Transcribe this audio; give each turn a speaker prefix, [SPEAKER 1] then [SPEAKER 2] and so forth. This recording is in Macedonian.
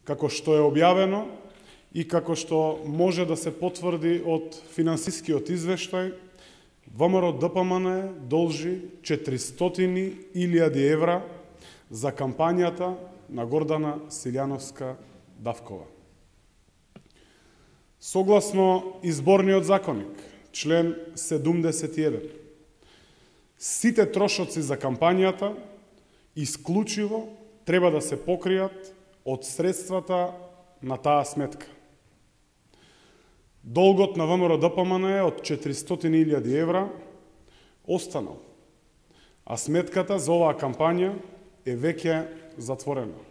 [SPEAKER 1] како што е објавено и како што може да се потврди од финансискиот извештај, ВМРО ДПМН должи 400.000 евра за кампањата на Гордана Силјановска-Давкова. Согласно изборниот законник, член 71, сите трошоци за кампањата исклучиво треба да се покријат од средствата на таа сметка. Долгот на ВМРО ДПМН е од 400.000 евра останал, а сметката за оваа кампања е веќе затворена.